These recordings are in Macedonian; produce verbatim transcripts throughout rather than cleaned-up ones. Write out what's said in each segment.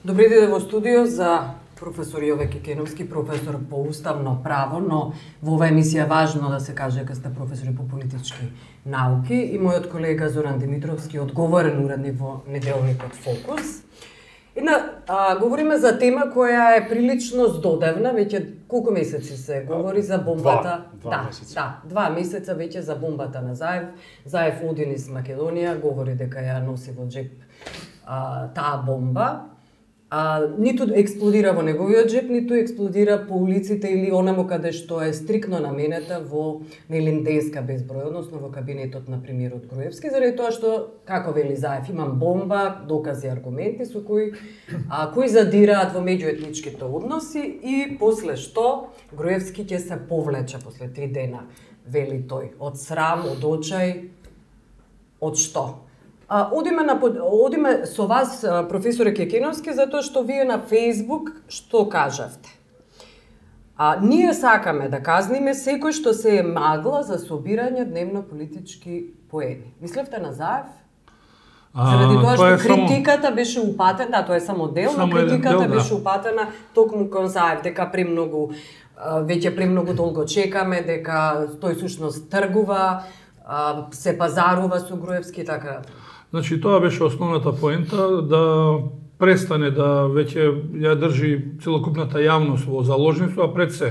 Добри ден во студио за професор Јове Кекеновски, професор по уставно право, но во оваа емисија важно да се каже дека сте професори по политички науки и мојот колега Зоран Димитровски, одговорен уредник во неделникот Фокус. Една, а, говориме за тема која е прилично здодевна, веќе колку месеци се говори за бомбата. Два, два да, месеца. Да, два месеца веќе за бомбата на Заев. Заев оди низ Македонија, говори дека ја носи во джеп а, таа бомба. А, ниту експлодира во неговиот джеп, ниту експлодира по улиците или онаму каде што е стрикно наменета во Нелинденска безброј, односно во кабинетот на премиерот Груевски, заради тоа што, како вели Заев, имам бомба, докази, аргументи со кои, а, кои задираат во меѓуетничките односи и после што Груевски ќе се повлече после три дена, вели тој, од срам, од очај, од што? А, одиме, на, одиме со вас, професоре Кекеновски, затоа што вие на Фејсбук што кажавте? А, ние сакаме да казниме секој што се е магла за собирање дневно политички поени. Мислевте на Заев? Заради тоа што критиката само... беше упатена, да, тоа е само дел, но критиката дел, беше да. упатена токму кон Заев, дека премногу, веќе премногу долго чекаме, дека тој сушност тргува, се пазарува со Груевски и така. Значи, тоа беше основната поента, да престане да веќе ја држи целокупната јавност во заложништво, а пред се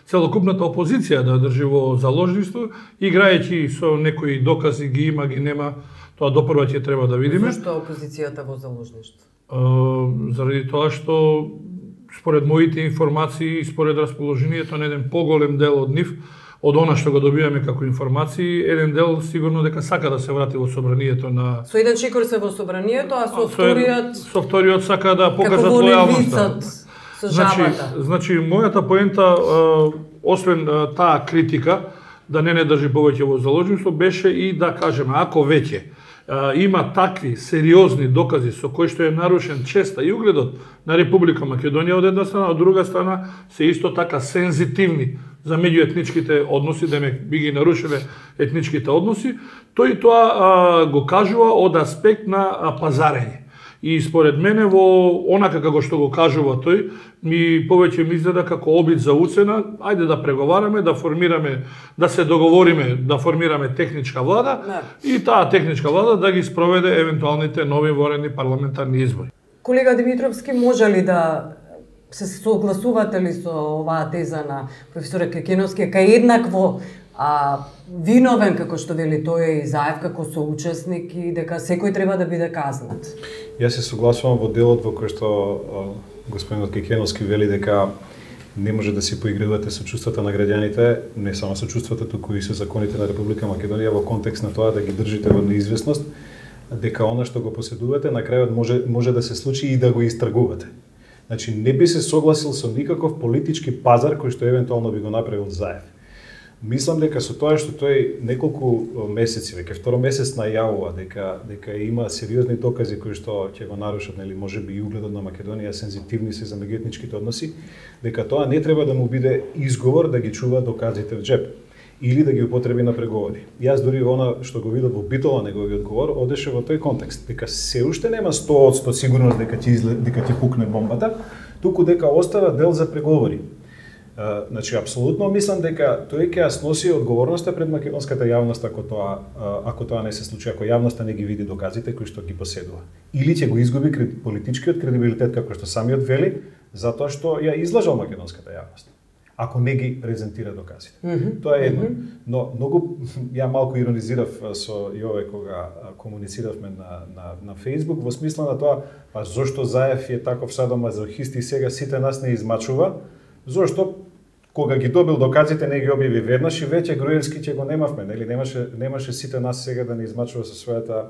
целокупната опозиција да држи во заложништво, играјќи со некои докази, ги има, ги нема, тоа допрва ќе треба да видиме. Зошто опозицијата во заложништво? Uh, заради тоа што, според моите информации и според расположението на еден поголем дел од нив, од она што го добиваме како информации, еден дел сигурно дека сака да се врати во собранието на... Со еден чекор се во собранието, а со вториот... Со вториот сака да покажат лојалноста. Со значи, жабата. значи, мојата поента, освен таа критика, да не не држи повеќе во заложништво, беше и да кажеме, ако веќе има такви сериозни докази со кои што е нарушен честа и угледот на Република Македонија од една страна, од друга страна се исто така сензитивни за меѓуетничките односи, да ме би ги нарушиле етничките односи, тој тоа а, го кажува од аспект на а, пазарење. И според мене во онака како што го кажува тој, ми повеќе ми изгледа како обид за уцена, ајде да преговараме, да формираме, да се договориме, да формираме техничка влада не. И таа техничка влада да ги спроведе евентуалните нови воредни парламентарни избори. Колега Димитровски, може ли да се согласувате ли со оваа теза на професорот Кекеновски, кај еднакво а, виновен, како што вели тој и Заев, како соучесник и дека секој треба да биде казнат? Јас се согласувам во делот во кој што а, господинот Кекеновски вели дека не може да си поигрувате со чувствата на граѓаните, не само со чувствата, туку и со законите на Република Македонија во контекст на тоа да ги држите во неизвестност, дека она што го поседувате на крајот може може да се случи и да го истргувате. Значи, не би се согласил со никаков политички пазар кој што евентуално би го направил Заев. Мислам дека со тоа што тој неколку месеци, веќе второ месец најавува дека дека има сериозни докази кои што ќе го нарушат, нели, можеби и угледот на Македонија, сензитивни се за меѓуетничките односи, дека тоа не треба да му биде изговор да ги чува доказите в джеп или да ги употреби на преговори. Јас дури она што го видов во Битола неговиот говор одеше во тој контекст, дека се уште нема сто одсто сигурност дека ќе излед, дека ќе пукне бомбата, туку дека остава дел за преговори. Uh, значи, апсолутно мислам дека тој ќе ја сноси одговорноста пред македонската јавност ако тоа, uh, ако тоа не се случи, ако јавноста не ги види доказите кои што ги поседува. Или ќе го изгуби кред, политичкиот кредибилитет, како што самиот вели, затоа што ја излажал македонската јавност, ако не ги презентира доказите. Mm -hmm. Тоа е едно. Mm -hmm. Но многу, ја малку иронизирав со Јове кога комунициравме на, на, на Facebook, во смисла на тоа, па зошто Заев е таков садомазохист и сега сите нас не измачува, зошто кога ги добил доказите не ги објави веднаш и веќе Груевски ќе го немавме, нели немаше немаше сите нас сега да не измачува со својата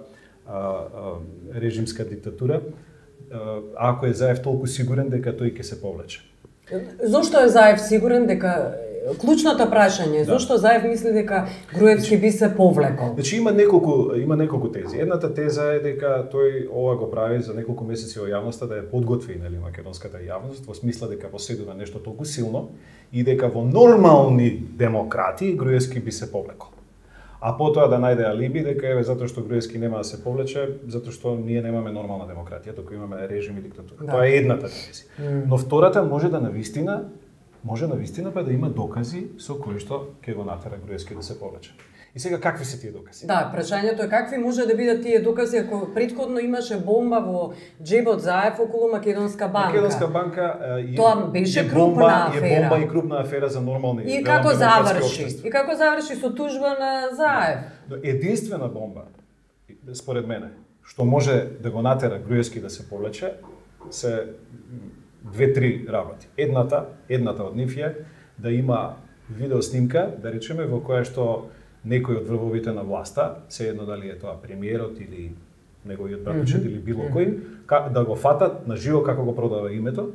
а, а, режимска диктатура, а, ако е Заев толку сигурен дека тој ќе се повлече. Зошто е Заев сигурен дека клучното прашање, да. Зошто Заев мисли дека Груевски би се повлекол? Значи има неколку има неколку тези. Едната теза е дека тој ова го прави за неколку месеци во јавноста да ја подготви, нели, македонската јавност во смисла дека поседува нешто толку силно и дека во нормални демократи Груевски би се повлекол. а потоа да најде алиби дека еве затоа што Груевски нема да се повлече, затоа што ние немаме нормална демократија, туку имаме режим и диктатура. Да. Тоа е едната верзија. Mm. Но втората може да навистина, може навистина па да има докази со кои што ќе го натера Груевски да се повлече. И сега какви се тие докази? Да, прашањето е какви може да бидат тие докази ако претходно имаше бомба во џебот Заев околу Македонска банка. Македонска банка е, тоа беше е крупна бомба, афера. Е бомба и крупна афера за нормални. И како заврши? И како заврши со тужба на Заев? Единствена бомба, според мене, што може да го натера Груевски да се повлече, се две-три работи. Едната, едната од нив е да има видеоснимка, да речеме, во која што некој од врвовите на власта, се едно дали е тоа премиерот или неговиот братовчет mm -hmm. или било кој, да го фатат на живо како го продава името,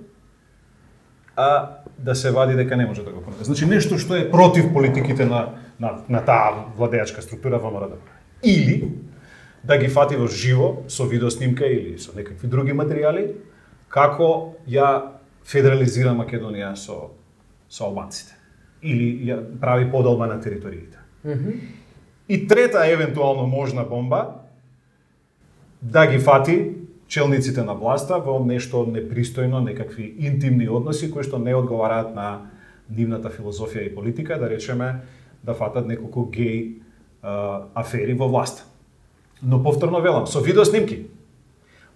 а да се вади дека не може да го продаде. Значи нешто што е против политиките на на, на таа владеачка структура во МРД. Или да ги фати во живо со видеоснимка или со некакви други материјали како ја федерализира Македонија со со албанците или ја прави поделба на териториите. Mm-hmm. И трета евентуално можна бомба да ги фати челниците на власта во нешто непристојно, некакви интимни односи кои што не одговараат на нивната филозофија и политика, да речеме да фатат неколку геј а, афери во власта. Но повторно велам, со видеоснимки.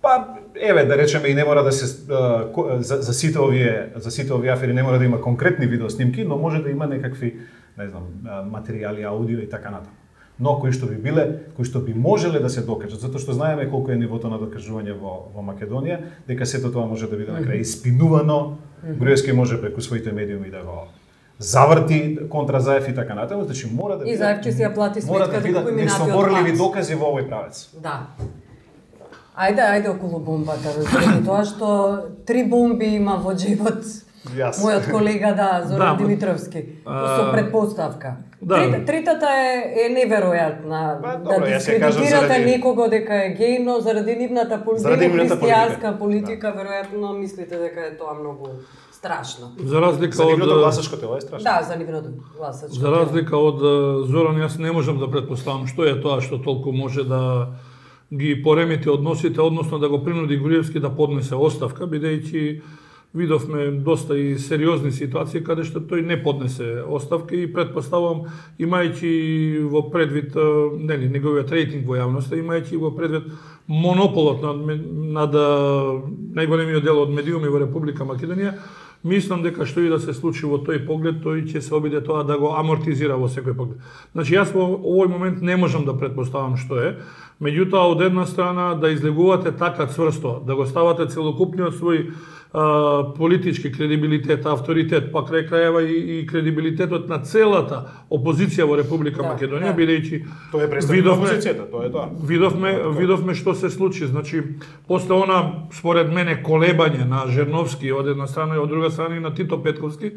Па еве да речеме и не мора да се а, за, за сите овие за сите овие афери не мора да има конкретни видеоснимки, но може да има некакви не знам, материјали, аудио и така натаму. Но кои што би биле, кои што би можеле да се докажат, затоа што знаеме колку е нивото на докажување во во Македонија, дека сето тоа може да биде на крај испинувано. Груевски може преку своите медиуми да го заврти контра Заев и така натаму, значи мора да биде. И Заев ќе си ја плати сметката да како минатиот несоборливи докази во овој правец. Да. Ајде, ајде околу бомбата, разберете тоа што три бомби има во џебот. Yes. Мојот колега, да, Зоран да, Димитровски, со предпоставка. Да. Трит, тритата е, е неверојатна. Ба, добро, да дискредитирате заради... некого дека е геј, но заради нивната политика, христијанска политика, да. Веројатно мислите дека е тоа многу страшно. За разлика за нивното од гласачко тело е страшно. Да, за нивното гласачко тело. За разлика од Зоран, јас не можам да претпоставам што е тоа што толку може да ги поремети односите, односно да го принуди Груевски да поднесе оставка, бидејќи видовме доста и сериозни ситуации каде што тој не поднесе оставка и претпоставам, имајќи во предвид нели неговиот рейтинг во јавноста, имајќи во предвид монополот над над најголемиот дел од медиуми во Република Македонија, мислам дека што и да се случи во тој поглед, тој ќе се обиде тоа да го амортизира во секој поглед. Значи јас во овој момент не можам да претпоставам што е, меѓутоа од една страна да излегувате така цврсто, да го ставате целокупниот свој а, политички кредибилитет, авторитет, па крај крајева и, и кредибилитетот на целата опозиција во Република да, Македонија, да. Бидејќи тоа е представник на опозицијата, тоа е тоа. Видовме, видовме што се случи, значи после она според мене колебање на Жерновски од една страна и од друга страна и на Тито Петковски,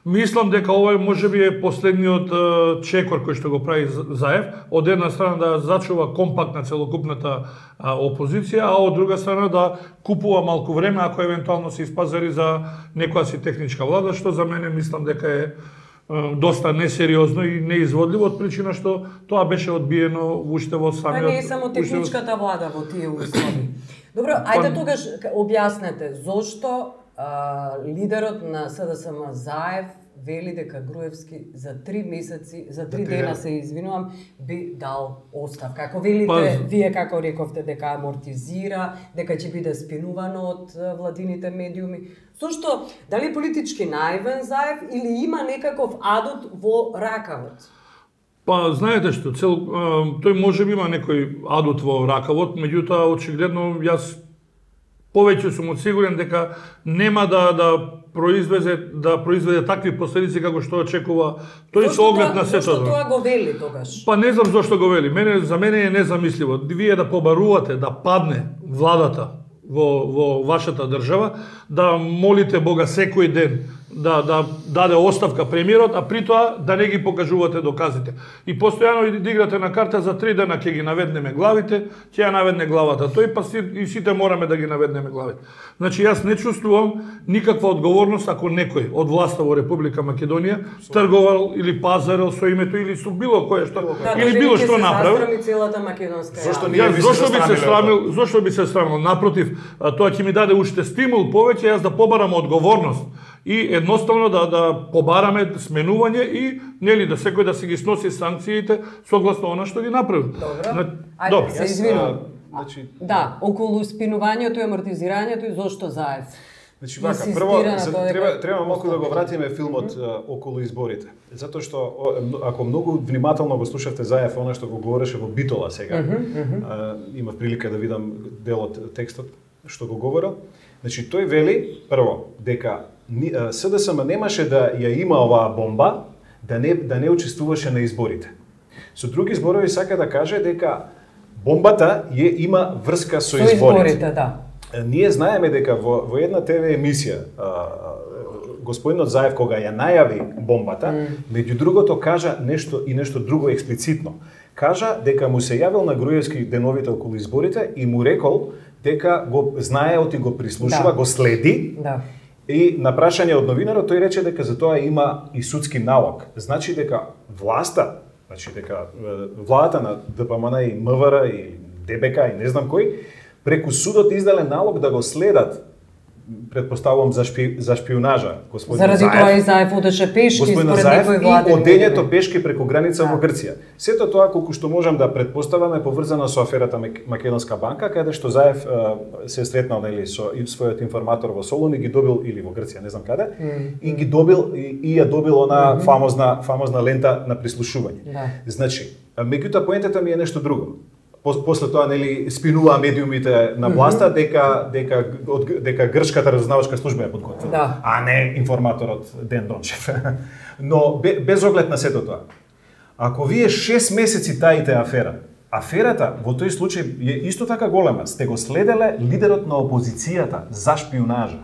мислам дека ова можеби е последниот uh, чекор кој што го прави Заев, од една страна да зачува компакт на целокупната uh, опозиција, а од друга страна да купува малку време ако евентуално се испазари за некоја си техничка влада, што за мене мислам дека е uh, доста несериозно и неизводливо од причина што тоа беше одбиено уште во самиот. Па не е само техничката влада во тие услови. Добро, ајде тогаш објаснете зошто Uh, лидерот на СДСМ Заев вели дека Груевски за три месеци, за три дена се извинувам, би дал оставка. Како велите, па... вие како рековте дека амортизира, дека ќе биде спинувано од владините медиуми. Зошто, дали политички наивен Заев или има некаков адут во ракавот? Па, знаете што, цел, тој може би има некој адут во ракавот, меѓутоа очигледно јас повеќе сум сигурен дека нема да да произведе да произведе такви последици како што очекува тој со оглед на сето. Зошто тоа го вели тогаш? Па не знам зошто го вели. Мене за мене е незамисливо. Вие да побарувате да падне владата во во вашата држава, да молите Бога секој ден да да даде оставка премиерот, а при тоа да не ги покажувате доказите. И постојано да играте на карта за три дена ќе ги наведнеме главите, ќе ја наведне главата тој, па си, и сите мораме да ги наведнеме главите. Значи јас не чувствувам никаква одговорност ако некој од власта во Република Македонија трговал или пазарел со името или со било кое што да, или било што направил. Целата македонска. Зошто Јас зошто би се срамил, зошто би се срамил? Напротив, тоа ќе ми даде уште стимул повеќе јас да побарам одговорност и едноставно да да побараме сменување и нели да секој да се ги сноси санкциите согласно она што ги направил. Добро. Ајде, се извинувам. Значи, да, околу спинувањето и амортизирањето и зошто Заев? Значи, вака, прво, за, треба, треба малку да го вратиме филмот mm -hmm. околу изборите. Затоа што, ако многу внимателно го слушавте Заев, она што го говореше во Битола сега, mm -hmm. а, имав прилика да видам дел од текстот што го говорил. Значи, тој вели, прво, дека СДСМ немаше да ја има оваа бомба, да не, да не учествуваше на изборите. Со други зборови сака да каже дека бомбата ја има врска со, со изборите. изборите, да. Ние знаеме дека во, во една ТВ емисија а, господинот Заев кога ја најави бомбата, mm. меѓу другото кажа нешто и нешто друго експлицитно. Кажа дека му се јавил на Груевски деновите околу изборите и му рекол дека го знаеот и го прислушува, да. Го следи. Да. И на прашање од новинарот тој рече дека за тоа има и судски налог. Значи дека власта, значи дека владата на ДПМН и МВР и ДБК и не знам кој преку судот издале налог да го следат, предпоставувам за, шпи, за шпионажа, господин Заради Заев. Заради тоа и Заев одеше пешки според некој влади. И одењето пешки преку граница да. Во Грција. Сето тоа колку што можам да предпоставаме поврзано со аферата Македонска банка, каде што Заев се сретнал нели со својот информатор во Солун и ги добил или во Грција, не знам каде, mm. и ги добил и, и ја добил она mm -hmm. фамозна фамозна лента на прислушување. Да. Значи, меѓутоа поентата ми е нешто друго. После тоа нели спинуваа медиумите на власта дека дека од дека грчката разузнавачка служба е подготвила, да. А не информаторот Ден Дончев. Но без оглед на сето тоа. Ако вие шест месеци таите афера, аферата во тој случај е исто така голема. Сте го следеле лидерот на опозицијата за шпионажа.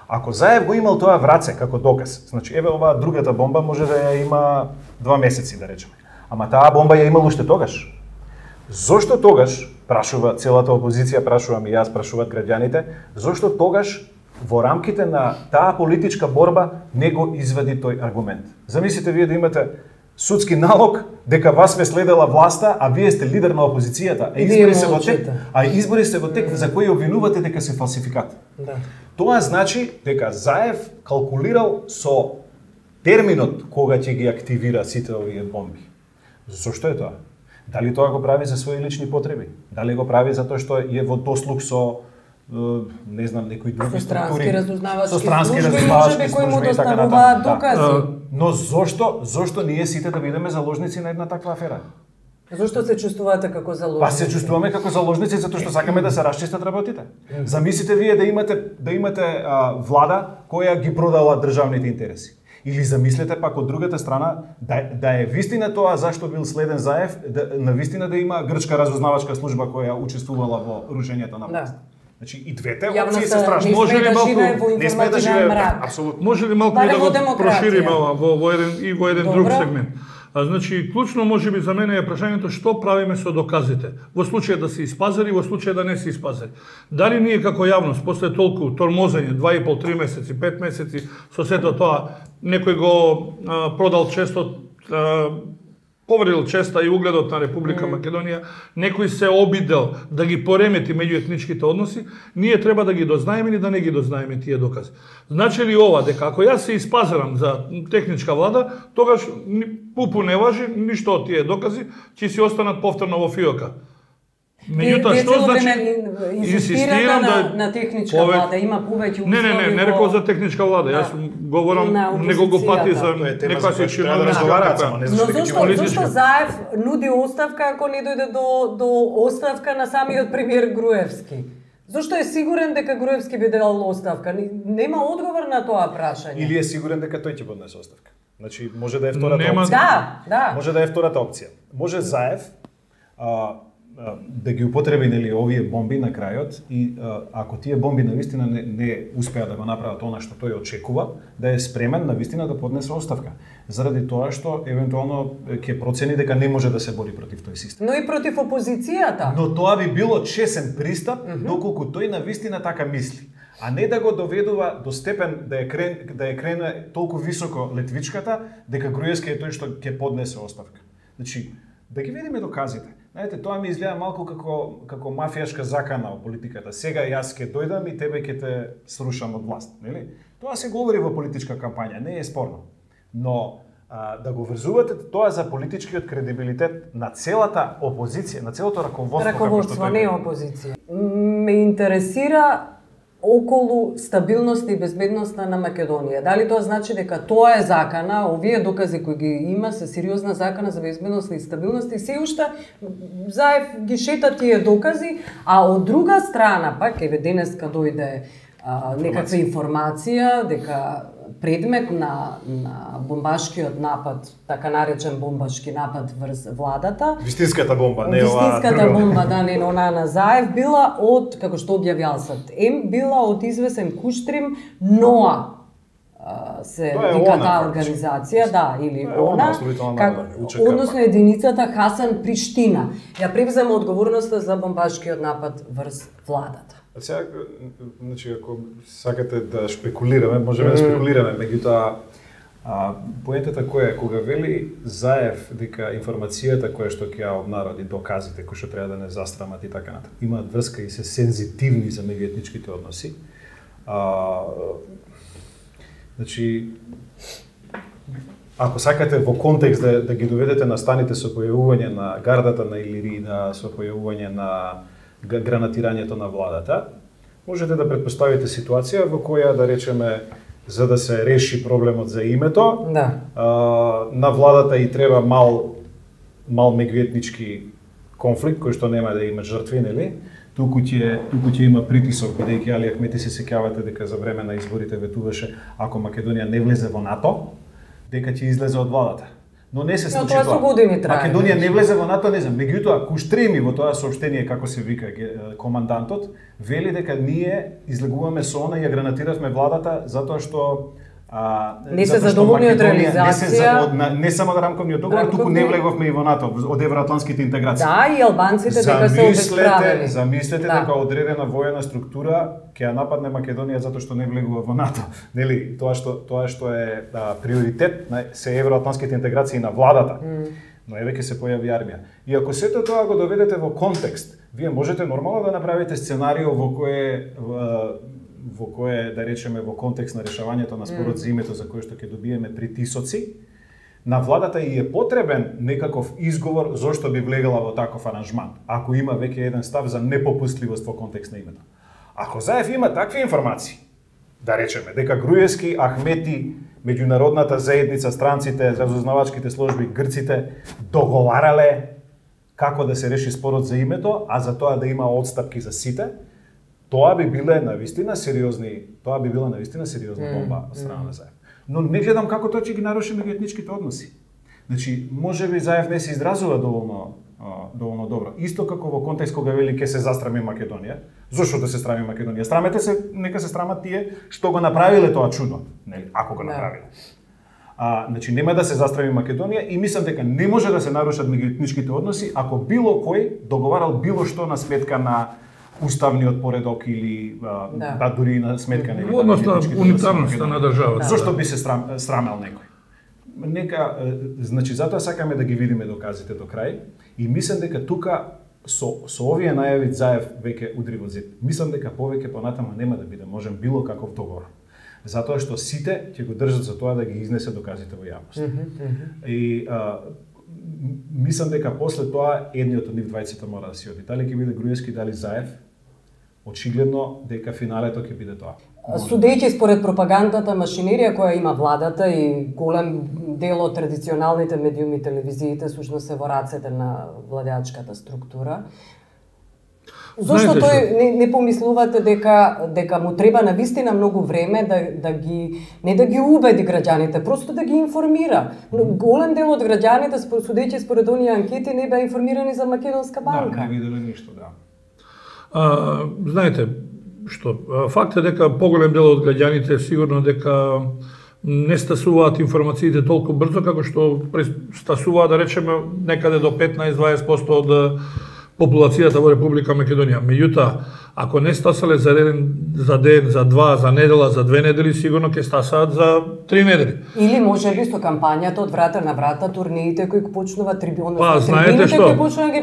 Ако Заев го имал тоа враце како доказ, значи еве оваа другата бомба може да ја има два месеци да речеме. Ама таа бомба ја имал уште тогаш. Зошто тогаш, прашува целата опозиција, прашувам и јас, прашуваат граѓаните, зошто тогаш во рамките на таа политичка борба не го извади тој аргумент? Замислите вие да имате судски налог дека вас ве следела власта, а вие сте лидер на опозицијата, а избори се во тек, а избори се во тек за кои обвинувате дека се фалсификат. Да. Тоа значи дека Заев калкулирал со терминот кога ќе ги активира сите овие бомби. Зошто е тоа? Дали тоа го прави за своји лични потреби? Дали го прави затоа што е во дослуг со не знам некои други структури, со странски разузнавачки служби кои му доставуваат докази? Но зошто зошто ние сите да бидеме заложници на една таква афера? Зошто се чувствувате како заложници? Па се чувствуваме како заложници затоа што сакаме да се расчистат работите. Замислите вие да имате да имате а, влада која ги продала државните интереси. Или замислете пак од другата страна да, да е вистина тоа зашто бил следен Заев, да, на вистина да има грчка разузнавачка служба која учествувала во рушењето на власт. Да. Значи и двете опции се страшни. Може ли малку не сме да живееме апсолутно. Може ли малку да го прошириме во во еден и во еден Добро. Друг сегмент? А, значи, клучно може би за мене е прашањето што правиме со доказите. Во случај да се испазари, во случај да не се испазари. Дали ние како јавност, после толку тормозење, два и пол три месеци, пет месеци, со сето тоа, некој го а, продал честот, а, повредил честа и угледот на Република mm. Македонија, некој се обидел да ги поремети меѓуетничките односи, ние треба да ги дознаеме или да не ги дознаеме тие докази. Значи ли ова дека ако јас се испазарам за техничка влада, тогаш пупу не важи, ништо од тие докази ќе си останат повторно во фиока. Меѓутоа што значи инсистирам да на техничка пове... влада има повеќе услови. Не, не, не, не рекол за техничка влада. Јас говорам неколку пати за некоја се чиновна разговараца. Но зошто зошто Заев нуди оставка ако не дојде до до оставка на самиот премиер Груевски? Зошто е сигурен дека Груевски би дал оставка? Нема одговор на тоа прашање. Или е сигурен дека тој ќе поднесе оставка? Значи може да е втората Нема... опција. Да, да. Може да е втората опција. Може Заев а, да ги употреби нели овие бомби на крајот и ако тие бомби навистина не, не успеат да го направат она што тој очекува, да е спремен навистина да поднесе оставка. Заради тоа што евентуално ќе процени дека не може да се бори против тој систем. Но и против опозицијата. Но тоа би било чесен пристап, Mm-hmm. доколку тој навистина така мисли. А не да го доведува до степен да е крен, да е крене толку високо летвичката дека Груевски е тој што ќе поднесе оставка. Значи, да ги видиме доказите. Знаете, тоа ми изгледа малку како како мафијашка закана во политиката. Сега јас ќе дојдам и тебе ќе те срушам од власт, нели? Тоа се говори во политичка кампања, не е спорно. Но а, да го врзувате тоа за политичкиот кредибилитет на целата опозиција, на целото раководство, Раководство, како што не тој опозиција. Ме интересира околу стабилноста и безбедноста на Македонија. Дали тоа значи дека тоа е закана, овие докази кои ги има се сериозна закана за безбедност и стабилност и се уште Заев ги шета тие докази, а од друга страна пак еве денеска дојде а, некаква информација дека предмет на на бомбашкиот напад, така наречен бомбашки напад врз владата, вистинската бомба, не ова. Вистинската бомба, да, не она на Заев, била од, како што објави Алсат Ем, била од извесен Куштрим НОА, се вика таа организација, да, или она, како, односно единицата Хасан Приштина. Ја превзема одговорноста за бомбашкиот напад врз владата. А сега, значи, ако сакате да шпекулираме, можеме mm. да спекулираме, меѓутоа, а, поентата која е, кога вели Заев дека информацијата која што ќе ја обнароди, доказите кои што треба да не застрамат и така натаму, имаат врска и се сензитивни за меѓуетничките односи. А, значи, ако сакате во контекст да, да ги доведете на станите со појавување на гардата на Илирина, со појавување на гранатирањето на владата, можете да претпоставите ситуација во која, да речеме, за да се реши проблемот за името, да. а, на владата и треба мал мал меѓуетнички конфликт кој што нема да има жртви, нели? Туку ќе туку ќе има притисок, бидејќи Али Ахмети се сеќавате дека за време на изборите ветуваше ако Македонија не влезе во НАТО, дека ќе излезе од владата. Но не се случи тоа. тоа. Тоа Македонија не влезе во НАТО, не знам. Меѓутоа, Куштреми во тоа соопштение, како се вика командантот, вели дека ние излегуваме со она и ја гранатиравме владата затоа што а, не се задоволни од реализација. Не, се за, не, не само да рамковниот договор, туку не влеговме и во НАТО, од евроатлантските интеграции. Да, и албанците дека се обесправени. Замислете да. дека одредена воена структура ќе ја нападне Македонија затоа што не влегува во НАТО. Нели, тоа што тоа што е да, приоритет на се евроатлантските интеграции на владата. Mm. Но еве ќе се појави армија. И ако сето тоа го доведете во контекст, вие можете нормално да направите сценарио во кое во кое, да речеме, во контекст на решавањето на спорот mm. за името за кое што ќе добиеме притисоци, на владата и е потребен некаков изговор зошто би влегала во таков аранжман, ако има веќе еден став за непопустливост во контекст на името. Ако Заев има такви информации, да речеме, дека Груевски, Ахмети, меѓународната заедница, странците, разузнавачките служби, грците договарале како да се реши спорот за името, а за тоа да има одстапки за сите, тоа би биле навистина сериозни, тоа би била навистина сериозна бомба од страна на Заев. Но не гледам како тоа ќе ги наруши меѓуетничките односи. Значи, можеби Заев не се изразува доволно доволно добро. Исто како во контекст кога вели ќе се застрами Македонија. Зошто да се страми Македонија? Страмете се, нека се страмат тие што го направиле тоа чудо, нели, ако го направиле. А, значи нема да се застрами Македонија и мислам дека не може да се нарушат меѓуетничките односи ако било кој договарал било што на сметка на уставниот поредок или а, да. да дури на сметка на односно унитарноста на државата. Зошто би се срам, срамел некој? Нека, значи затоа сакаме да ги видиме доказите до крај и мислам дека тука со со овие најави Заев веќе удри во зид. Мислам дека повеќе понатаму нема да биде можен било каков договор. Затоа што сите ќе го држат за тоа да ги изнесе доказите во јавност. Mm -hmm. И а, мислам дека после тоа едниот од нив двајцата мора да си оди. Дали ќе биде Груевски, дали Заев? Очигледно дека финалето ќе биде тоа. Судејќи според пропагандната машинерија која има владата и голем дел од традиционалните медиуми, телевизиите, сушно се во рацете на владеачката структура. Зошто Знаете тој што? не, не помислувате дека дека му треба навистина многу време да да ги не да ги убеди граѓаните, просто да ги информира. Но голем дел од граѓаните, судејќи според оние анкети, не беа информирани за Македонска банка. Да, не виделе ништо, да. А, знаете што, факт е дека поголем дел од граѓаните сигурно дека не стасуваат информациите толку брзо како што стасуваат, да речеме, некаде до петнаесет до дваесет проценти од популацијата во Република Македонија. Меѓутоа, ако не стасале за ден, за ден, за два, за недела, за две недели, сигурно ќе стасаат за три недели. Или може би со кампањата од врата на врата, турниите кои почнуваат трибуна, Па, знаете што,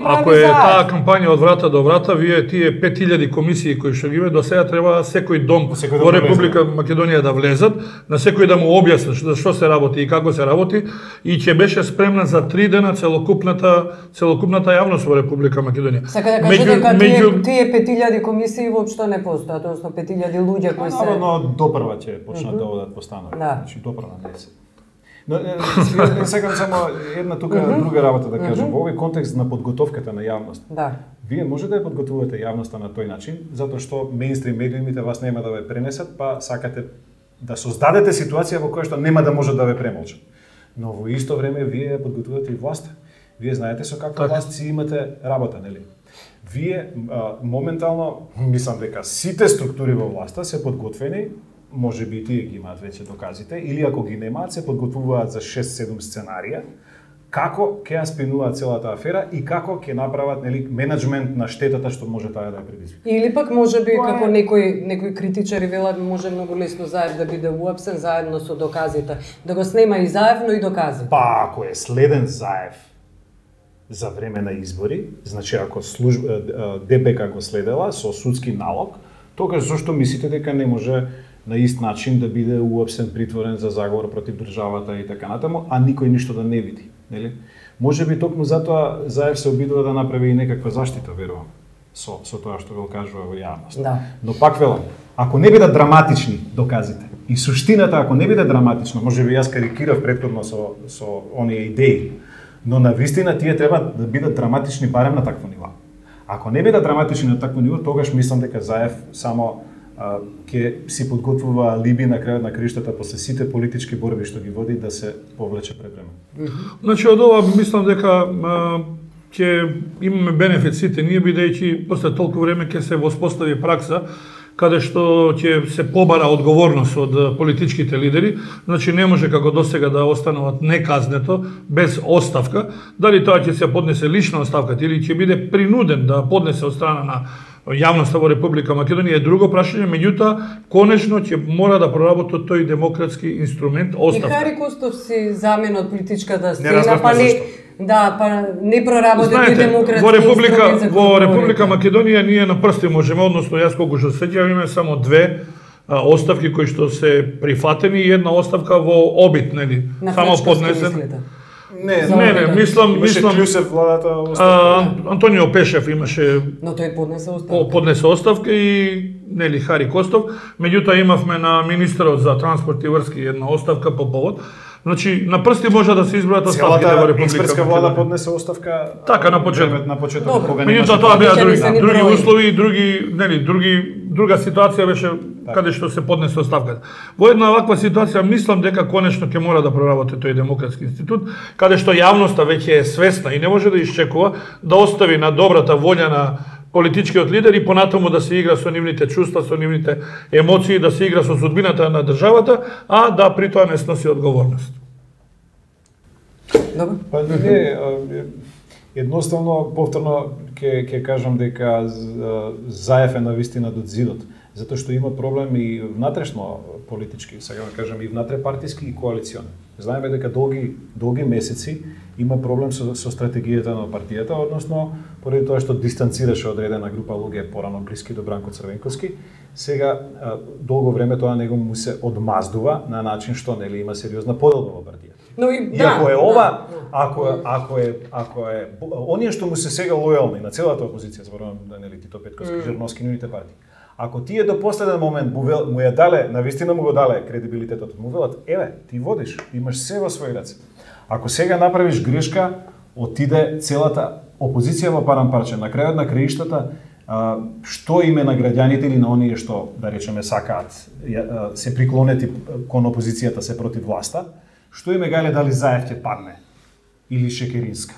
ако е таа кампања од врата до врата, вие тие пет илјади комисии кои што ги има до сега треба секој дом секој во дом Република Македонија да влезат, на секој да му објаснат што, што се работи и како се работи, и ќе беше спремна за три дена целокупната целокупната јавност во Република Македонија. Сака да кажете дека тие, тие пет илјади комисии воопшто не постојат, односно пет илјади луѓе кои се... Наravno, допрва ќе почнат да одат по станови. Да. Значи, допрва не се. Но, не сакам само една тука друга работа да кажам. Во овој контекст на подготовката на јавност. Да. Вие може да ја подготвувате јавноста на тој начин, затоа што мејнстрим медиумите вас нема да ве пренесат, па сакате да создадете ситуација во која што нема да може да ве премолчат. Но во исто време вие ја подготвувате и власта. Вие знаете со каква власт си имате работа, нели? Вие а, моментално, мислам дека сите структури во власта се подготвени, може би тие ги имаат веќе доказите, или ако ги немаат, се подготвуваат за шест-седум сценарија, како ќе ја спинуваат целата афера и како ќе направат, нели, менеджмент на штетата што може таа да ја предизвика. Или пак може би Тоа... како некои некои критичари велат, може многу лесно Заев да биде уапсен заедно со доказите, да го снема и Заев, но и доказите. Па ако е следен Заев за време на избори, значи ако служба ДПК го следела со судски налог, тогаш зошто мислите дека не може на ист начин да биде уапсен, притворен за заговор против државата и така натаму, а никој ништо да не види, нели? Може би токму затоа Заев се обидува да направи и некаква заштита, верувам, со со тоа што го кажува во јавност. Да. Но пак велам, ако не бидат драматични доказите и суштината ако не биде драматична, може би јас карикирав претходно со со оние идеи, но на вистина тие треба да бидат драматични барем на такво ниво. Ако не бидат драматични на такво ниво, тогаш мислам дека Заев само а, ќе си подготвува алиби на крајот на криштата после сите политички борби што ги води да се повлече пред време. Значи од ова мислам дека а, ќе имаме бенефит сите ние, бидејќи после толку време ќе се воспостави пракса каде што ќе се побара одговорност од политичките лидери, значи не може како досега да остануваат неказнето, без оставка, дали тоа ќе се поднесе лична оставка или ќе биде принуден да поднесе од страна на јавноста во Република Македонија е друго прашање, меѓутоа конечно ќе мора да проработи тој демократски инструмент оставка. И Хари Костов си замен од политичката сцена, па не Да, па не проработи тој демократски во Република инструмент. Во Република Македонија ние на прсти можеме, односно јас колку што сеќавам имаме само две а, оставки кои што се прифатени и една оставка во обид, нели? На само Фречковски поднесен. мислите? Не, Не, не, мислам, мислам Клюсев владата оставка. а, Антонио Пешев имаше Но тој поднесе оставка. по- поднесе оставка и нели Хари Костов, меѓутоа имавме на министерот за транспорт и врски една оставка по повод. Значи на прсти може да се избројат оставките во Целата Република експертска влада Македонија. поднесе оставка. Така, на почеток. На почеток Добро. кога немаше. Меѓутоа тоа беа Обичаени други, се ни други брои. услови, други, нели, други друга ситуација беше каде што се поднесе оставката. Во една ваква ситуација мислам дека конечно ќе мора да проработи тој демократски институт, каде што јавноста веќе е свесна и не може да исчекува да остави на добрата волја на политичкиот лидер и понатаму да се игра со нивните чувства, со нивните емоции, да се игра со судбината на државата, а да при тоа не сноси одговорност. Добро. Па не, а, едноставно повторно ќе ќе кажам дека Заев е навистина до зидот, затоа што има проблем и внатрешно политички, сега да кажам и внатрепартиски и коалициони. Знаеме дека долги долги месеци има проблем со, со стратегијата на партијата, односно поради тоа што дистанцираше одредена група луѓе порано блиски до Бранко Црвенковски, сега а, долго време тоа него му се одмаздува на начин што нели има сериозна поделба во партијата. Но и, И да, ако е ова, да, ако е, ако е, ако е, оние што му се сега лојални на целата опозиција, зборувам да нели Тито Петкоски, mm. Жерновски, нивните партии. Ако тие до последен момент му, вел, му ја дале, навистина му го дале кредибилитетот, му велат, еве, ти водиш, имаш се во своји раце. Ако сега направиш грешка, отиде целата опозиција во парам парче. На крајот на краиштата, а, што име на граѓаните или на оние што, да речеме, сакаат, се приклонети кон опозицијата, се против власта, што име гале дали Заев ќе падне или Шекеринска.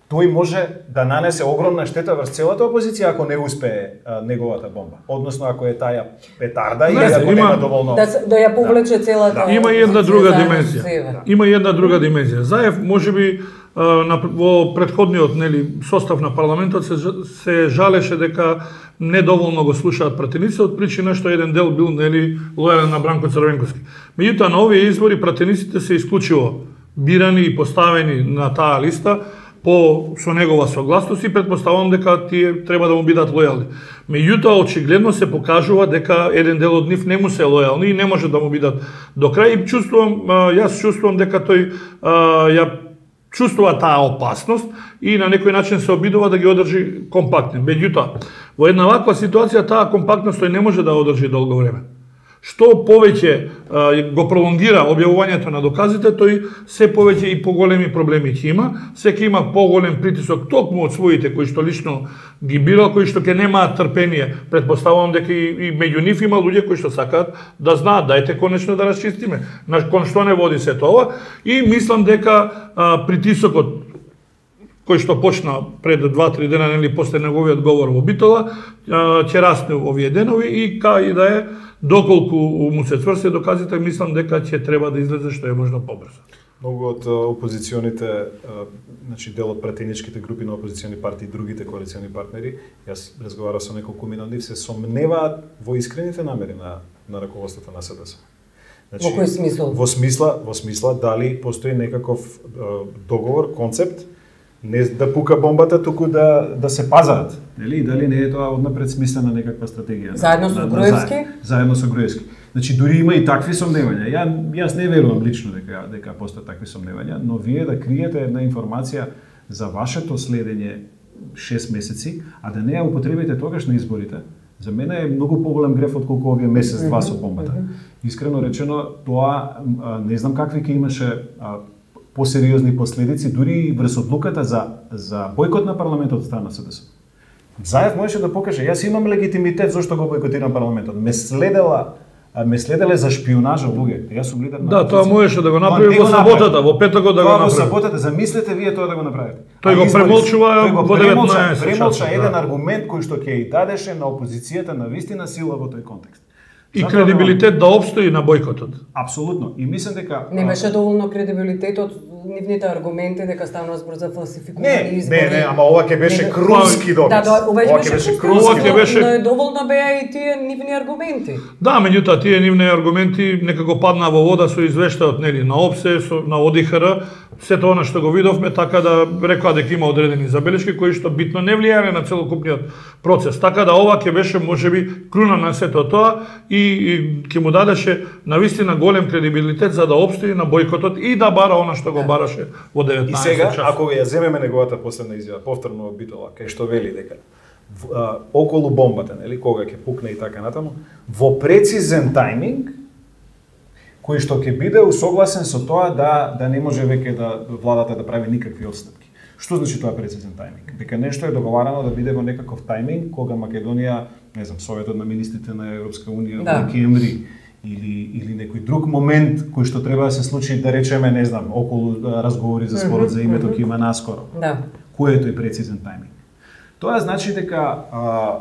Тој може да нанесе огромна штета врз целата опозиција ако не успее а, неговата бомба. Односно ако е таа петарда или ако има, нема доволно да, да ја повлече да. целата. Да. Има и една друга димензија. Да. Има и една друга димензија. Заев можеби на во претходниот нели состав на парламентот се се жалеше дека недоволно го слушаат пратеници од причина што еден дел бил нели лојален на Бранко Црвенковски. Меѓутоа на овие избори пратениците се исклучиво бирани и поставени на таа листа по со негова согласност и претпоставувам дека тие треба да му бидат лојални. Меѓутоа очигледно се покажува дека еден дел од нив не му се лојални и не може да му бидат до крај и чувствувам јас чувствувам дека тој ја чувствува таа опасност и на некој начин се обидува да ги одржи компактни. Меѓутоа, во една ваква ситуација таа компактност тој не може да одржи долго време. Што повеќе а, го пролонгира објавувањето на доказите, тој се повеќе и поголеми проблеми ќе има, секој има поголем притисок токму од своите кои што лично ги бира, кои што ќе немаат трпение. Претпоставувам дека и, и меѓу нив има луѓе кои што сакаат да знаат, дајте конечно да расчистиме на кон што не води се тоа и мислам дека а, притисокот кој што почна пред два-три дена нели после неговиот говор во Битола, ќе расне овие денови и кај да е доколку му се цврси доказите, мислам дека ќе треба да излезе што е можно побрзо. Многу од опозиционите, значи дел од пратеничките групи на опозициони партии и другите коалициони партнери, јас разговарав со неколку мина од нив, се сомневаат во искрените намери на на раководството на СДС. Значи, во кој смисол? Во смисла, во смисла дали постои некаков договор, концепт не да пука бомбата, туку да да се пазарат, нели? Дали не е тоа однапред смислена некаква стратегија? Заедно со Груевски? Заедно со Груевски. Значи дури има и такви сомневања. Ја јас не верувам лично дека дека постојат такви сомневања, но вие да криете една информација за вашето следење шест месеци, а да не ја употребите тогаш на изборите, за мене е многу поголем греф отколку овие месец-два со бомбата. Искрено речено, тоа не знам какви ќе имаше посериозни последици, дури и врз одлуката за за бојкот на парламентот од страна на СДС. Заев можеше да покаже, јас имам легитимитет зошто го бојкотирам парламентот. Ме следела, ме следеле за шпионажа луѓе. Јас сум лидер на Да, тоа можеше да го направи во саботата, во петокот да го направи. Во саботата, замислете вие тоа да го направите. Тој го премолчува во деветнаесет. Премолча еден аргумент кој што ќе и дадеше на опозицијата на вистина сила во тој контекст. И кредибилитет да обстои на бојкотот. Апсолутно. И мислам дека немаше доволно кредибилитет од нивните аргументи дека ставна збор за фалсификувани избори. Не, не, ама ова ќе беше крунски доказ. Да, да, ова ќе беше крунски, беше... но доволно беа и тие нивни аргументи. Да, меѓутоа тие нивни аргументи некако падна во вода со извештајот нели на ОПСЕ, со на ОДИХР, сето она што го видовме, така да рекоа дека има одредени забелешки кои што битно не влијаеле на целокупниот процес. Така да ова ќе беше можеби круна на сето тоа и, и ќе му дадеше навистина голем кредибилитет за да обстои на бојкотот и да бара она што го бараше во деветнаесет И сега, часот. ако ја земеме неговата последна изјава, повторно во Битола, кај што вели дека а, околу бомбата, нели, кога ќе пукне и така натаму, во прецизен тајминг, кој што ќе биде усогласен со тоа да да не може веќе да владата да прави никакви отстапки. Што значи тоа прецизен тајминг? Дека нешто е договарано да биде во некаков тајминг кога Македонија, не знам, Советот на министрите на Европска унија да. во декември или или некој друг момент кој што треба да се случи, да речеме, не знам, околу разговори за спорот за името ќе има наскоро. Да. Кој е тој прецизен тајминг? Тоа значи дека а,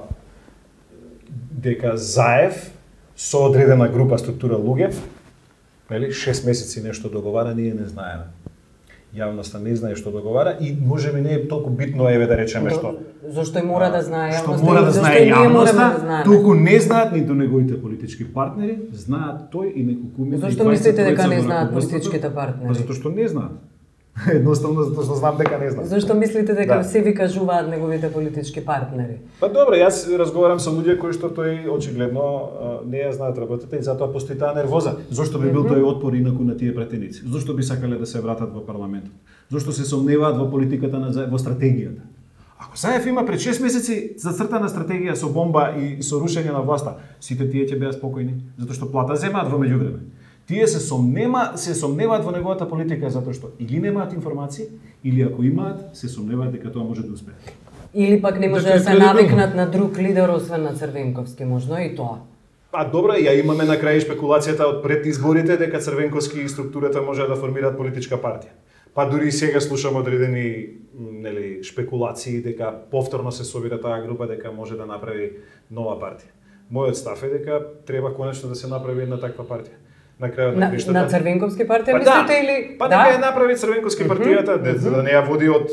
дека Заев со одредена група структура луѓе, нели, шест месеци нешто договара, ние не знаеме. Јавноста не знае што договара и можеби не е толку битно, еве да речеме што. Зошто и мора да знае јавноста? Што мора да знае јавноста? Туку не знаат ниту неговите политички партнери, знаат тој и неколку милиони. Зошто мислите дека не знаат политичките партнери? Затоа што не знаат. Едноставно затоа што знам дека не знаат. Зошто мислите дека да. се ви кажуваат неговите политички партнери? Па добро, јас разговарам со луѓе кои што тој очигледно не ја знаат работата и затоа постои таа нервоза. Зошто би бил тој отпор инаку на тие пратеници? Зошто би сакале да се вратат во парламентот? Зошто се сомневаат во политиката на во стратегијата? Ако Заев има пред шест месеци зацртана стратегија со бомба и со рушење на власта, сите тие ќе беа спокојни, затоа што плата земаат во меѓувреме. Тие се сомнема, се сомневаат во неговата политика затоа што или немаат информации, или ако имаат, се сомневаат дека тоа може да успее. Или пак не може Дека е да се кредибилно. навикнат на друг лидер освен на Црвенковски, можно и тоа. А добро, ја имаме на крај шпекулацијата од пред изборите дека Црвенковски и структурата може да формираат политичка партија. Па дури и сега слушам одредени нели шпекулации дека повторно се собира таа група дека може да направи нова партија. Мојот став е дека треба конечно да се направи една таква партија. На крајот на На, краиштата. на Црвенковски партија Па мислите да, или па да? нека ја направи Црвенковски партијата, mm -hmm. за да не ја води од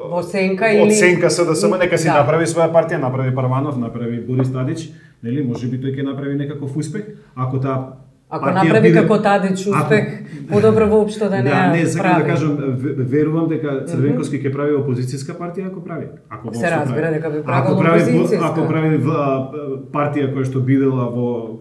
Во сенка од или сенка СДСМ, нека си Да. направи своја партија, направи Парванов, направи Борис Тадич, нели, можеби тој ќе направи некаков успех, ако таа Ако партија направи биде- како Тадич успех, Ако- подобро воопшто да не Да, ја не, сакам прави. да кажам, ве- верувам дека Црвенковски ќе прави опозицијска партија ако прави. Ако Се воопшто разбира прави. дека би Ако правил прави во- опозицијска. Ако прави в- а, партија која што бидела во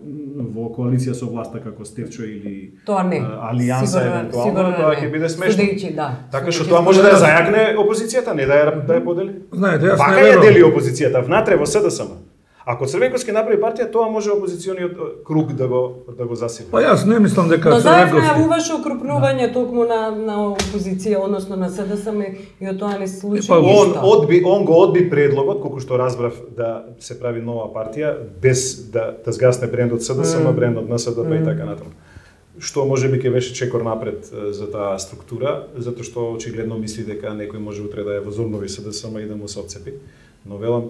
во коалиција со власта како Стевчо или Тоа не. а, Алијанса Сигурно- евентуално, сигурно тоа не. ќе биде смешно. Судејќи, да. Така што Судејќи тоа може да ја според- зајакне опозицијата, не да ја да ја подели. Знаете, јас Вака не ја верувам. дели опозицијата внатре во СДСМ. Ако Црвенковски направи партија, тоа може опозициониот е, круг да го да го засили. Па јас не мислам дека Но заедно Црвенковски. најавуваше окрупнување токму на на опозиција, односно на СДСМ и од тоа не се случи Па, Он ништо. одби, он го одби предлогот, колку што разбрав, да се прави нова партија без да да згасне брендот СДСМ, Mm. брендот на СДП и така натаму. Што можеби ќе беше чекор напред е, за таа структура, затоа што очигледно мисли дека некој може утре да ја возобнови СДСМ и да му се отцепи. Но велам,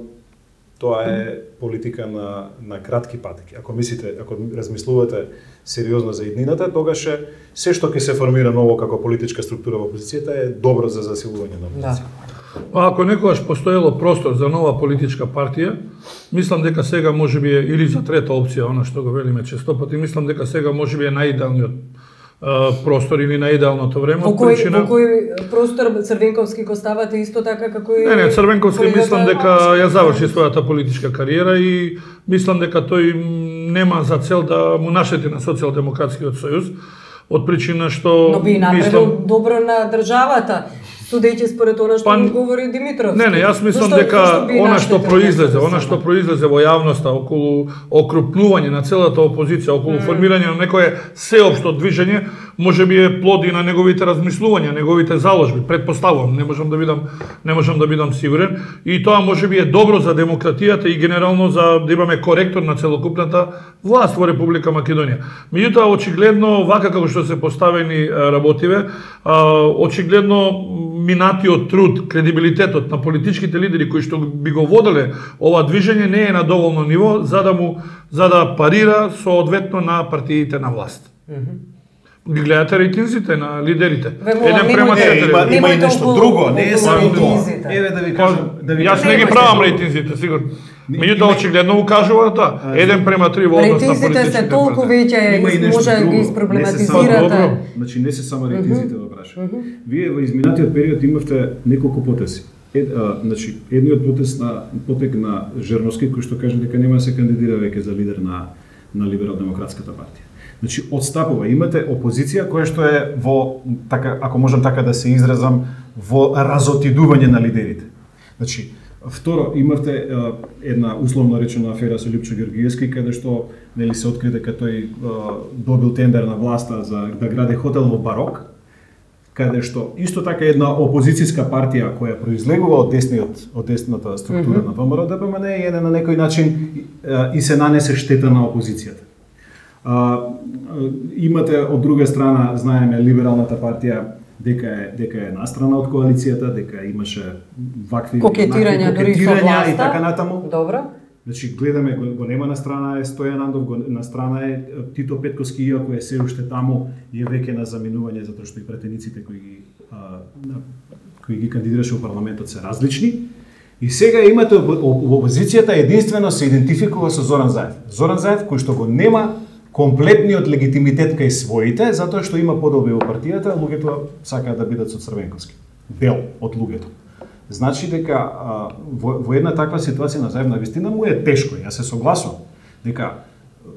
тоа е политика на на кратки патеки. Ако мислите, ако размислувате сериозно за иднината, тогаш е се што ќе се формира ново како политичка структура во опозицијата е добро за засилување на Да. опозицијата. Па ако некогаш постоело простор за нова политичка партија, мислам дека сега можеби е или за трета опција, она што го велиме често пати, мислам дека сега можеби е најидеалниот а, простор или најидеалното време. Во од кој причина- во кој простор Црвенковски го ставате исто така како и Не, не, Црвенковски колегата мислам дека Новачки? ја заврши својата политичка кариера и мислам дека тој м, нема за цел да му наштети на Социјалдемократскиот сојуз, од причина што Но би направил мислам добро на државата, судејќи според она што Па, му говори Димитров. Не, не, јас мислам Зашто- дека зашто би она што наштетил произлезе, на она СДСМ? што произлезе во јавноста околу окрупнување на целата опозиција, околу mm. формирање на некое сеопшто движење, може би е плод и на неговите размислувања, неговите заложби, предпоставувам, не можам да бидам не можам да бидам сигурен, и тоа може би е добро за демократијата и генерално за да имаме коректор на целокупната власт во Република Македонија. Меѓутоа очигледно вака како што се поставени а, работиве, а, очигледно минатиот труд, кредибилитетот на политичките лидери кои што би го воделе ова движење не е на доволно ниво за да му за да парира соодветно на партиите на власт. Ги гледате рейтинзите на лидерите. Ве молам, Еден према немојте- Е, четири. има, има и Немојте нешто околу- друго, не е околу само тоа. рейтинзите. Еве да ви Па, кажам, да ви Јас кажам. не ги Немојте правам друго. рейтинзите, сигурно. Не, Меѓутоа има- очигледно укажува тоа. Еден према три во однос на Рейтинзите политичките се толку партии. веќе, Има и нешто може да друго. ги Не се само испроблематизирате. добро. Значи не се само рейтинзите во прашање. Вие во изминатиот период имавте неколку потеси. Ед, а, значи, едниот потес на потек на Жерновски кој што каже дека нема да се кандидира веќе за лидер на на Либерал-демократската партија. Значи отстапува, имате опозиција која што е во така ако можам така да се изразам во разотидување на лидерите. Значи второ имавте а, една условно речена афера со Липчо Георгиевски каде што нели се откри дека тој а, добил тендер на власта за да гради хотел во Барок, каде што исто така една опозицијска партија која произлегува од десниот од десната структура mm -hmm. на ВМРО ДПМН е на некој начин а, и се нанесе штета на опозицијата. А, а, имате од друга страна, знаеме, либералната партија дека е дека е настрана од коалицијата, дека имаше вакви Кокетирања дури со кокетирања власта. и така натаму. Добро. Значи гледаме го, го нема на страна е Стојан Андов, го, на страна е Тито Петкоски, иако е се уште таму, е веќе на заминување затоа што и претениците кои ги а, кои ги кандидираше во парламентот се различни. И сега имате во опозицијата единствено се идентификува со Зоран Заев. Зоран Заев кој што го нема комплетниот легитимитет кај своите, затоа што има подолби во партијата, луѓето сакаат да бидат со Црвенковски. Дел од луѓето. Значи дека а, во, во една таква ситуација на Заев навистина му е тешко. Јас се согласувам дека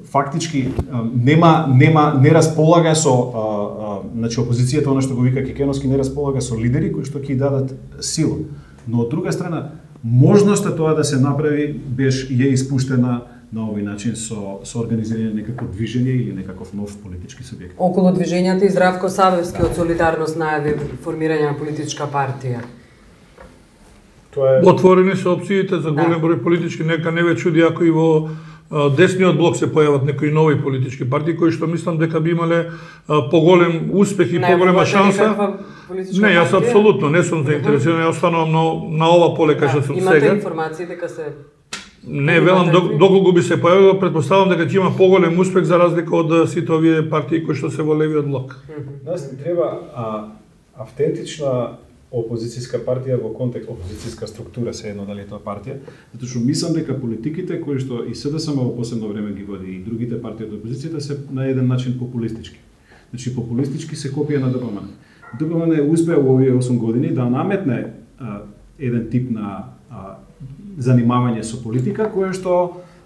фактички а, нема нема не располага со а, а, значи опозицијата, она што го вика Кекеновски, не располага со лидери кои што ќе дадат сила. Но од друга страна можноста тоа да се направи беше е испуштена на овој начин со со организирање некако движење или некаков нов политички субјект. Околу движењата и Здравко Савевски од Солидарност најави формирање на политичка партија. Тоа е Отворени се опциите за голем број политички, нека не ве чуди ако и во а, десниот блок се појават некои нови политички партии кои што мислам дека би имале а, поголем успех и поголема шанса. Не, јас апсолутно не сум заинтересиран, ја останувам на, на ова поле кај што сум сега. Имате информации дека се Не, велам, доколку би се појавило, предпоставам дека ќе има поголем успех за разлика од сите овие партии кои што се во левиот блок. Нас ни треба а, автентична опозицијска партија во контекст опозицијска структура, се едно дали тоа партија, затоа што мислам дека политиките кои што и СДСМ во последно време ги води и другите партии од опозицијата се на еден начин популистички. Значи популистички се копија на ДПМН. ДПМН успеа во овие осум години да наметне а, еден тип на а, занимавање со политика кој што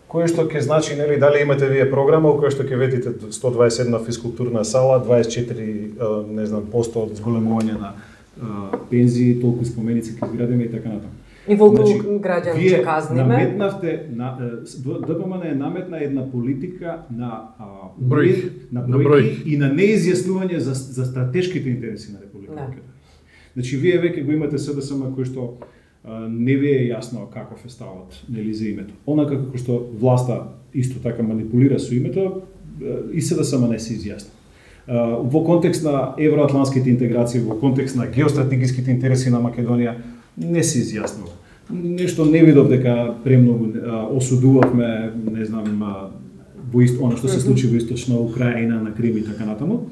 кој што ќе значи, нели, дали имате вие програма во која што ќе ветите сто дваесет една физкултурна сала, дваесет и четири не знам посто од зголемување на пензии, толку споменици ќе изградиме и така натаму. И волку значи, граѓани ќе казниме. Наметнавте на ДПМН е наметна една политика на бројки, на бројки и на неизјаснување за за стратешките интереси на Република Македонија. Значи вие веќе го имате СДСМ кој што не ви е јасно каков е ставот, нели, за името. Онака како што власта исто така манипулира со името, и СДСМ не се изјасни. Во контекст на евроатлантските интеграции, во контекст на геостратегиските интереси на Македонија, не се изјаснува. Нешто не видов дека премногу осудувавме, не знам, во исто она што се случи во источна Украина, на Крим и така натаму.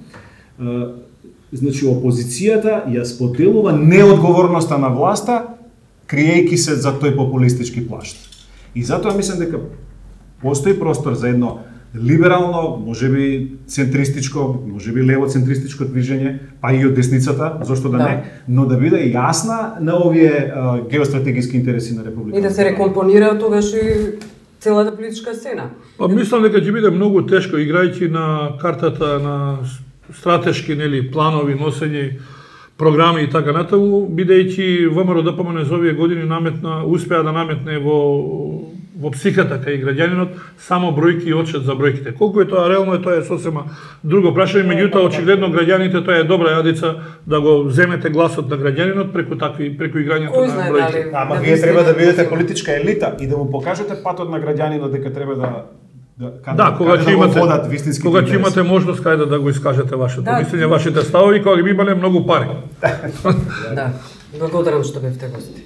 Значи опозицијата ја споделува неодговорноста на власта, криејќи се за тој популистички плашт. И затоа мислам дека постои простор за едно либерално, можеби центристичко, можеби левоцентристичко движење, па и од десницата, зошто да, да. не, но да биде јасна на овие а, геостратегиски интереси на Република. И да се рекомпонира тогаш и целата политичка сцена. Па мислам дека ќе биде многу тешко, играјќи на картата на стратешки, нели, планови, носење програми и така натаму, бидејќи ВМРО ДПМН за овие години наметна, успеа да наметне во во психата кај граѓанинот само бројки и отчет за бројките. Колку е тоа реално, е тоа е сосема друго прашање, меѓутоа очигледно граѓаните тоа е добра јадица да го земете гласот на граѓанинот преку такви преку играњето на бројки. Ама вие треба да бидете политичка елита и да му покажете патот на граѓанинот дека треба да Да, да, кога ќе имате кога ќе имате можност кај да, да го искажете вашето да. мислење, вашите ставови, кога ги имале многу пари. Да. Благодарам што бевте гости.